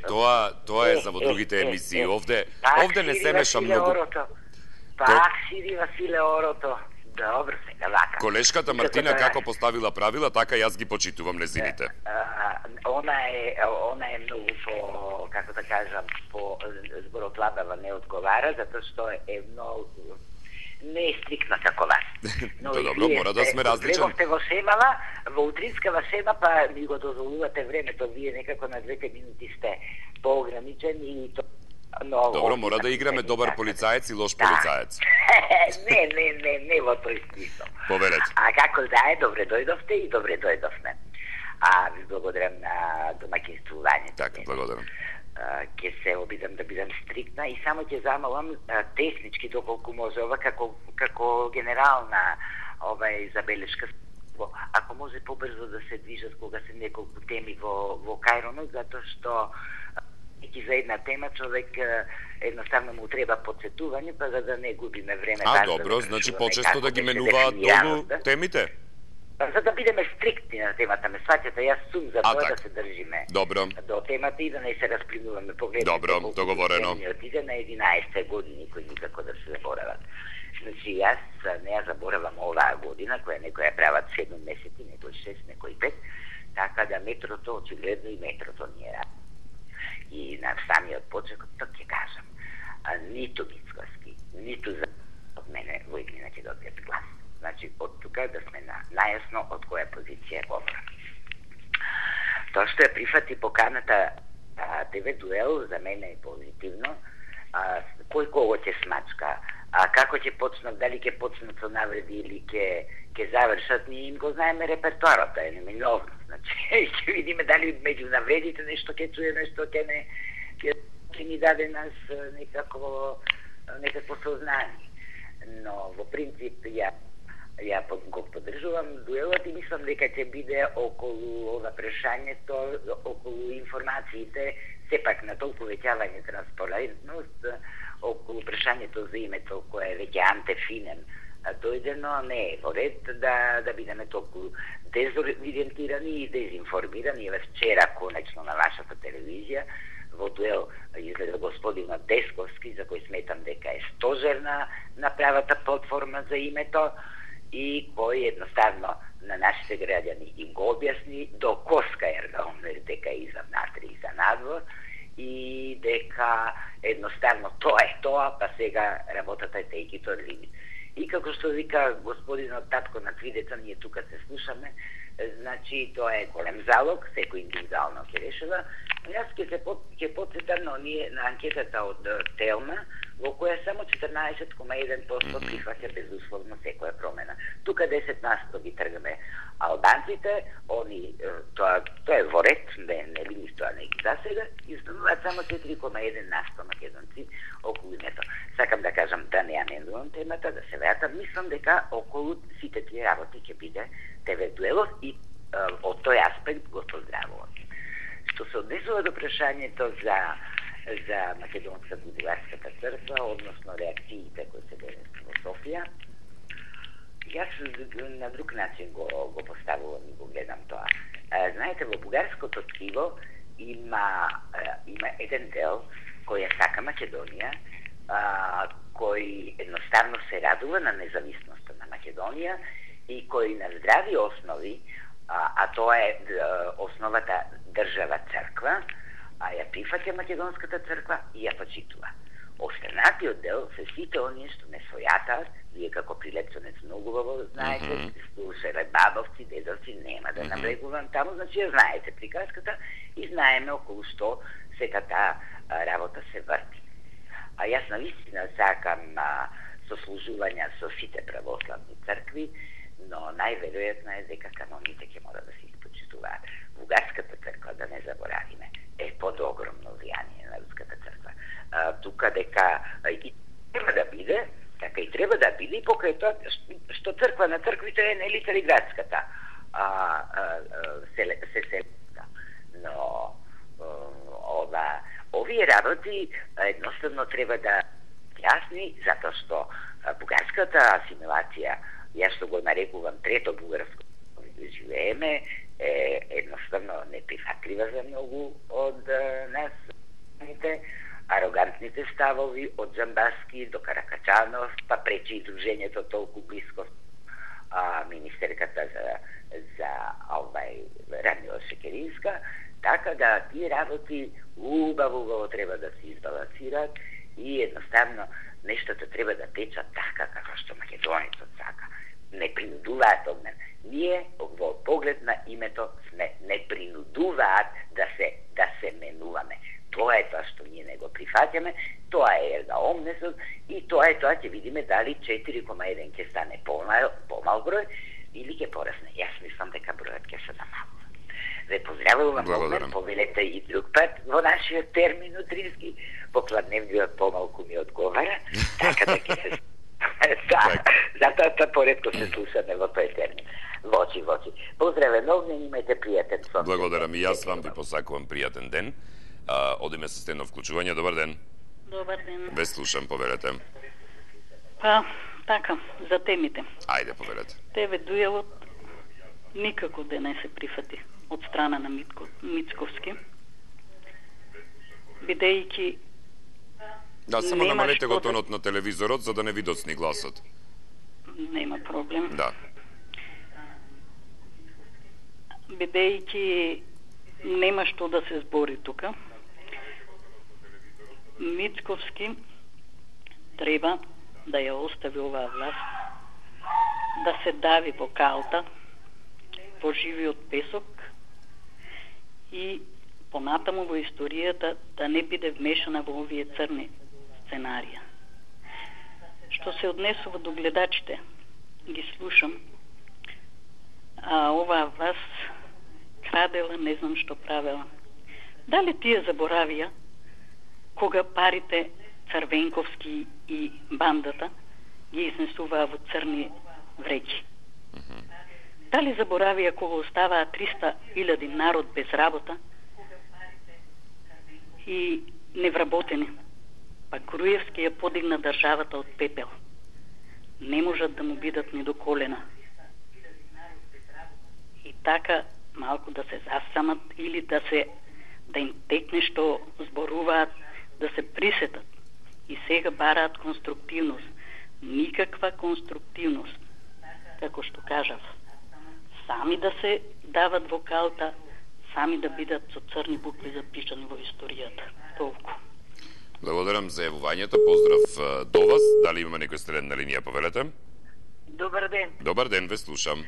Speaker 1: Тоа е за во другите емисии. Овде не се меша многу.
Speaker 9: Пак сири Василе орото. Добро сега вака.
Speaker 1: Колешката Мартина како поставила правила, така јас ги почитувам незините.
Speaker 9: Она е многу по, како да кажам, по зборотлабава не одговара, затоа што е многу не е стрикна како вас.
Speaker 1: Но добро, мора да сме различен.
Speaker 9: Требавте во Семала, во утринскава Сема, па ми го дозволувате времето, вие некако на 2 минути сте поограничени и то много.
Speaker 1: Добро, мора да играме добар полицаец и лош полицаец.
Speaker 9: Не во тој смисол.
Speaker 1: Повелете.
Speaker 9: А како да е, добре дојдовте и добре дојдовме. Ви благодарам на домаќинствувањето.
Speaker 1: Така, благодарам.
Speaker 9: Ќе се обидам да бидам стриктна и само ќе замолам теснички доколку може ова како генерална забелешка. Ако може побрзо да се движат кога се неколку теми во Кајронот, затоа што и за една тема човек едноставно му треба подсетување, па за да не губиме време.
Speaker 1: Добро, значи почесто да ги менуваат долу темите?
Speaker 9: За да бидеме стриктни на темата, ме сваќате, јас сум за тоа да се држиме до темата и да не се расплинуваме. Погледнете,
Speaker 1: добро, договорено.
Speaker 9: Отиде на 11 години кои никако да се заборават. Значи, јас не ја заборавам оваа година, која некоја прават 7 месеци, некој 6, некој 5, така да метрото, очигледно и метрото ни е рад. И на самиот почеток ќе кажам, ниту Мицкоски, ниту за од мене во Игнина ќе добијат глас. Значи, од тука да сме најасно од која позиција говорам. Тоа што ја прифати поканата ТВ Дуел за мене е позитивно. Кој кого ќе смачка, како ќе почнат, дали ќе почнат со навреди или ќе завршат, ние им го знаеме репертуарот, е неминовно. Значи, ќе видиме дали меѓу навредите нешто ќе чуеме, што ќе ни даде нас некакво сознание. Но во принцип ја го поддржувам дуелот и мислам дека ќе биде околу ова прашањето, околу информациите, сепак на толку веќавање транспарентност, околу прашањето за името кое е веќе антефинен дојдено, не е во ред да бидеме толку дезориентирани и дезинформирани. Еве вчера, конечно, на вашата телевизија, во дуел изгледа господинот Десковски, за кој сметам дека е стожерна на правата платформа за името, и кој едноставно на нашите граѓани им го објасни до коска ергаундер дека и за внатре и за надвор и дека едноставно тоа е тоа, па сега работата е take it or leave it. И како што вика господинот татко на 3 деца, ние тука се слушаме, значи тоа е голем залог, секој индивидуално ќе решава. Јас ќе подсетам на анкетата од Телма, во која само 14,1% прифаќа безусловно секоја промена. Тука 10% ги тргаме албанците, тоа е во ред, не ли нищо, а не ги засега, и остануваат само 4,1% македонци околу името. Сакам да кажам да не ја менувам темата, да се вратам, мислам дека околу сите тие работи ќе биде ТВ Дуелов и од тој аспект го поздравувам. Што се однесува до прашањето за Македонска Бугарската црква, односно реакциите кои се денес во Софија, јас на друг начин го поставувам и го гледам тоа. Знаете, во бугарското ткиво има еден дел кој ја сака Македонија, кој едноставно се радува на независноста на Македонија и кој на здрави основи, а тоа е основата држава црква, а ја прифаќа македонската црква и ја почитува. Останатиот дел се сите оние што не својатаат, вие како прилепцонец многу во знаете, слушале бабовци, дедовци, нема да набрегувам таму, значи ја знаете приказката и знаеме околу што сета таа работа се врти. А јас навистина сакам сослужувања со сите православни цркви, но најверојатно е дека каноните ќе мора да се испочитуваат. Бугарската црква, да не заборавиме, е под огромно влијание на руската црква. Тука дека и треба да биде, така и треба да биде, покрај тоа што црква на црквите е нели Цариградската селска. Но овие работи едноставно треба да јасни, затоа што бугарската асимилација, јас што го нарекувам трето бугарско живееме, е едноставно неприфатлива за многу од нас, арогантните ставови од Джамбаски до Каракачанов, па пречи и дружењето толку близко министерката за Радмила Шекеринска, така да тие работи убаво треба да се избалансираат и едноставно нештото треба да течат така како што македонецот сака. Не принудуваат од мен. Ние во поглед на името сме не принудуваат да се менуваме. Тоа е тоа што ние не го прифаќаме, тоа е ерга омнесот и тоа ќе видиме дали 4,1 ќе стане помал број или ќе порасне. Јас мислам дека бројот ќе се намалува. Ве поздравувам, повелете и друг пат во нашиот термин утрински, попладневниот помалку ми одговара, така да ќе се затоа поредко се слушаме во тој термин. Вочи. Поздраве новне, имајте пријатен сон.
Speaker 1: Благодарам и јас вам ви посакувам пријатен ден. Одиме со стено вклучување. Добар ден.
Speaker 10: Добар ден.
Speaker 1: Ве слушам, повелете.
Speaker 10: Така, за темите.
Speaker 1: Ајде, повелете.
Speaker 10: Тебе дуелот никако да не се прифати од страна на Мицковски, бидејќи
Speaker 1: да, само намалете го тонот на телевизорот за да не ви доцни гласот.
Speaker 10: Нема проблем.
Speaker 1: Да.
Speaker 10: Бидејќи нема што да се збори тука. Мицковски треба да ја остави оваа власт, да се дави во калта, во живиот песок и понатаму во историјата да не биде вмешана во овие црни сценарија. Што се однесува до гледачите, ги слушам, а оваа власт крадела, не знам што правела. Дали тие заборавија кога парите Црвенковски и бандата ги изнесуваа во црни вреќи? Дали заборавија кога оставаа 300.000 народ без работа и невработени? Па Груевски ја подигна државата од пепел. Не можат да му бидат ни до колена. И така малку да се засамат или да им текне што зборуваат, да се присетат. И сега бараат конструктивност. Никаква конструктивност. Како што кажав, сами да се дават во калта, сами да бидат со црни букви запишани во историјата. Толку.
Speaker 1: Благодарам за јавувањето. Поздрав до вас. Дали има некој среден на линија, повелете?
Speaker 11: Добар ден.
Speaker 1: Добар ден, ве слушам.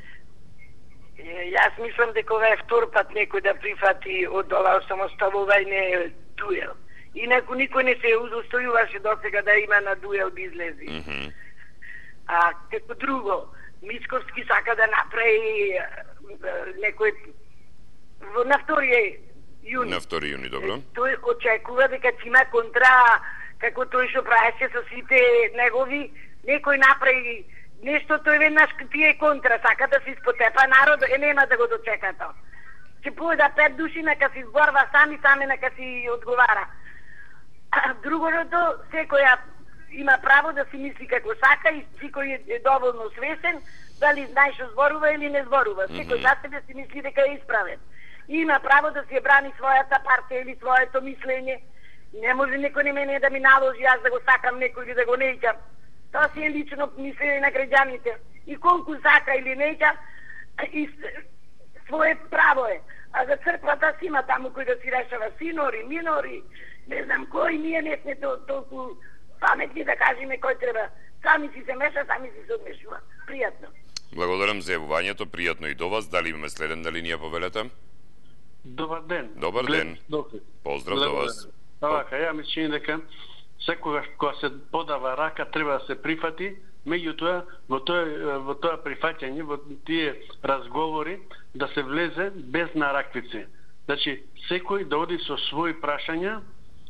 Speaker 11: Јас мислам дека ова е втор пат некој да прифати од ова самоставување дуел. Инаку никој не се удостојуваше досега да има на дуел да излези. А како друго, Мицковски сака да направи некој на 2 јуни.
Speaker 1: На 2 јуни, добро.
Speaker 11: Тој очекува дека ќе има контра, како тој што правеше со сите негови, некој направи нешто, тој веднаш тие контра, сака да се испотепа народ, нема да го дочека тоа. Ќе појда 5 души, нека се изборва сами нека си одговара. Другото, секоја има право да си мисли како сака и секој е доволно свесен, дали знае што зборува или не зборува. Секој за себе си мисли дека е исправен. и има право да си брани својата партија или своето мислење. Не може некој на мене да ми наложи јас да го сакам некој или да го неќам. Тоа си е лично мислење на граѓаните. И колку сака или неќа, и свое право е. А за црквата си има таму кој да си решава синори, минори, не знам кој, ние не сме толку паметни да кажеме кој треба. Сами си се меша, сами си се одмешува. Пријатно.
Speaker 1: Благодарам за јавувањето, пријатно и до вас. Дали имаме следен на линија, повелете?
Speaker 12: Добар ден.
Speaker 1: Добар ден. Поздрав до вас.
Speaker 12: Вака, ја мислам дека секогаш кога се подава рака треба да се прифати, меѓутоа во тоа прифаќање, во тие разговори да се влезе без нараквици. Значи, секој да оди со своји прашања,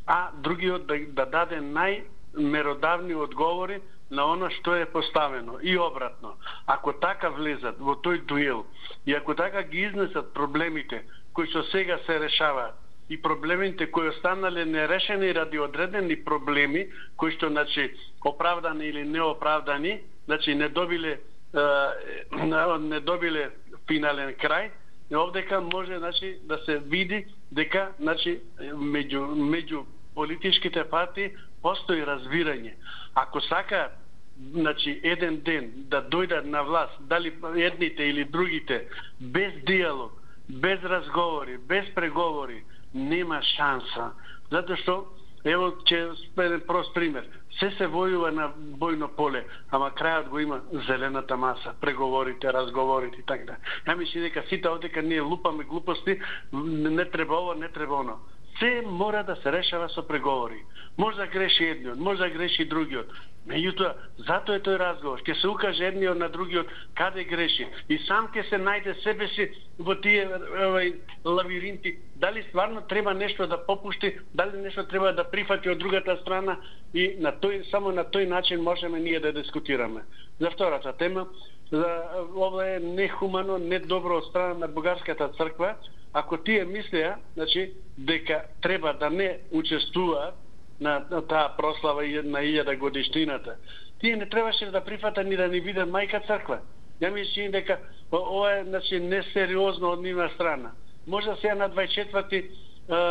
Speaker 12: а другиот да даде најмеродавни одговори на оно што е поставено и обратно. Ако така влезат во тој дуел и ако така ги изнесат проблемите кои што сега се решаваат и проблемите кои останале нерешени ради одредени проблеми кои што значи оправдани или неоправдани, значи не добиле финален крај, овдека може значи да се види дека значи меѓу политичките партии постои разбирање. Ако сака значи еден ден да дојдат на власт, дали едните или другите, без диалог, без разговори, без преговори, нема шанса. Затоа што ево ќе спеден прост пример. Се војува на бојно поле, ама крајот го има зелената маса, преговорите, разговорите и така. Ја мислам дека сите одека ние лупаме глупости, не треба ово, не треба оно. Се мора да се решава со преговори. Може да греши едниот, може да греши другиот. Меѓутоа, затоа е тој разговор. Ќе се укаже едниот на другиот каде греши. И сам ќе се најде себе си во тие лавиринти. Дали стварно треба нешто да попушти, дали нешто треба да прифати од другата страна и само на тој начин можеме ние да дискутираме. За втората тема, ова е нехумано, недобро од страна на бугарската црква. Ако тие мислеа, значи, дека треба да не учествуваат на таа прослава на 1000 годишнината, тие не требаше да прифатат ни да ни видат мајка црква. Ја мислам дека ова е значи несериозно од нивна страна. Може сега на 24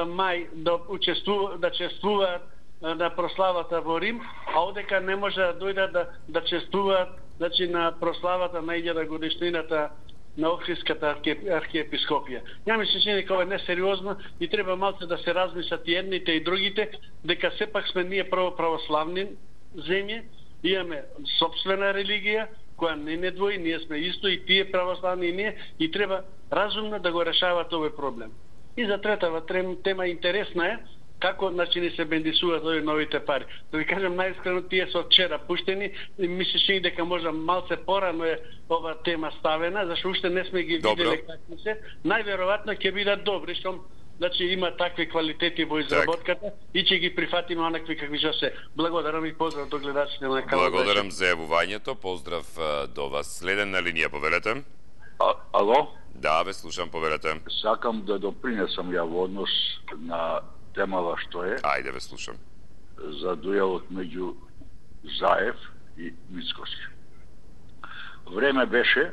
Speaker 12: мај да чествуваат на прославата во Рим, а одека не може да дојдат да чествуваат значи на прославата на 1000 годишнината на Охридската архиепископија. Ја мислам дека ова е несериозно и треба малце да се размислат и едните и другите, дека сепак сме ние православни земји, имаме сопствена религија, која не двои, ние сме исто и тие православни и ние, и треба разумно да го решават овој проблем. И за третава тема интересна е, како значи ни се бендисуваат овие новите пари. Да ви кажам најискрено, тие се вчера пуштени и мислеше дека можда малце порано е ова тема ставена, зашто уште не сме ги виделе какви се. Најверојатно ќе бидат добри, што значи има такви квалитети во изработката и ќе ги прифатиме онакви какви што се. Благодарам и поздрав до гледачите на каналот.
Speaker 1: Благодарам за јавувањето, поздрав до вас. Следен на линија, повелете.
Speaker 13: Ало?
Speaker 1: Да, ве слушам, повелете.
Speaker 13: Сакам да допринесам ја во однос на темава што е.
Speaker 1: Ајде, ве слушам.
Speaker 13: За дуелот меѓу Заев и Мицкоски. Време беше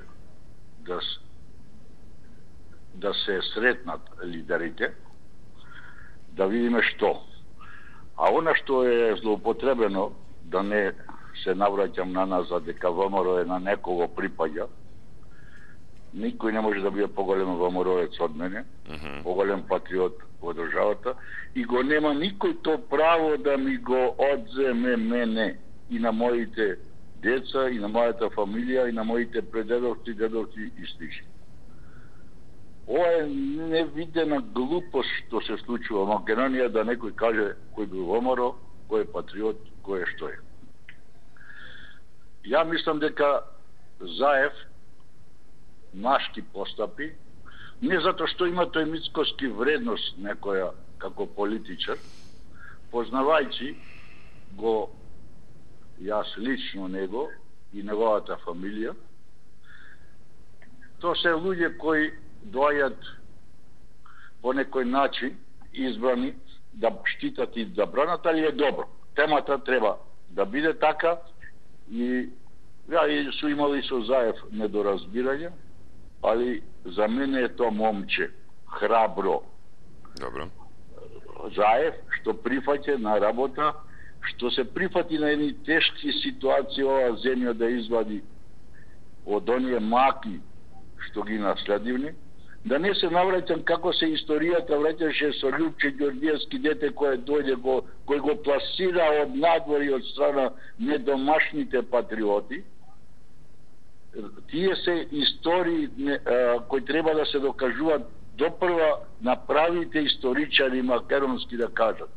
Speaker 13: да се сретнат лидерите, да видиме што. А она што е злоупотребено, да не се навраќам на нас за дека ВМРО е на некого припаѓа, никој не може да биде поголем ВМРО-ец од мене, поголем патриот во државата, и го нема никој то право да ми го одземе мене и на моите деца, и на мојата фамилија, и на моите предедовци, дедовци и слични. Ова е невидена глупост што се случува во Македонија, да некој каже кој бил ВМРО, кој е патриот, кој е што е. Ја мислам дека Заев нашки постапи, не затоа што има тој Мицкоски вредност некоја како политичар, познавајќи го јас лично него и неговата фамилија, тоа се луѓе кои доаѓат по некој начин избрани да штитат и да бранат, али е добро. Темата треба да биде така и ја су имали со Заев недоразбирање, али за мене е тоа момче храбро.
Speaker 1: Добро.
Speaker 13: Заев што прифаќа на работа, што се прифати на едни тешки ситуации ова земја да извади од оние маки што ги наследивни, да не се навраќам како се историјата враќаше со Љупче Ѓорѓевски, дете кој дојде кој го пласира од надвор и од страна недомашните патриоти. Тие се истории кои треба да се докажуваат допрва на правите историчари македонски да кажат.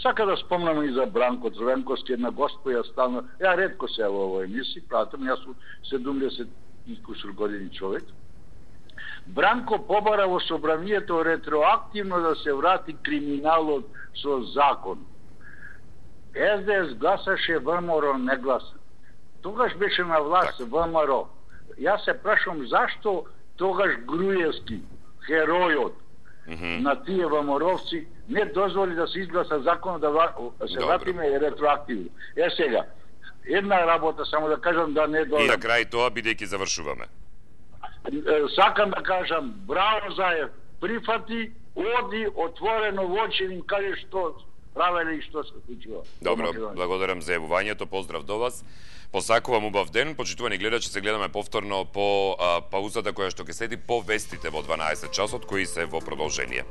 Speaker 13: Сака да спомнам и за Бранко Црвенковски, една господја стално, ја ретко се во овој емисија, пратам, јас сум 70 и кусур години човек. Бранко побара во собранието ретроактивно да се врати криминалот со закон. СДС гласаше, ВМРО не гласа. Тогаш беше на власт ВМРО. Јас се прашам зашто тогаш Груевски, херојот на тие ВМРО-вци, не дозволи да се изгласа закон да се вратиме ретроактивно. Сега, една работа само да кажам да не дојдам.
Speaker 1: И на крај тоа, бидејќи завршуваме.
Speaker 13: Сакам да кажам, браво Заев, прифати, оди отворено во очи им каже што правеле и што се случува.
Speaker 1: Добро, благодарам за јавувањето, поздрав до вас. Посакувам убав ден, почитувани гледачи, се гледаме повторно по паузата која што ќе следи по вестите во 12 часот, кои се во продолжение.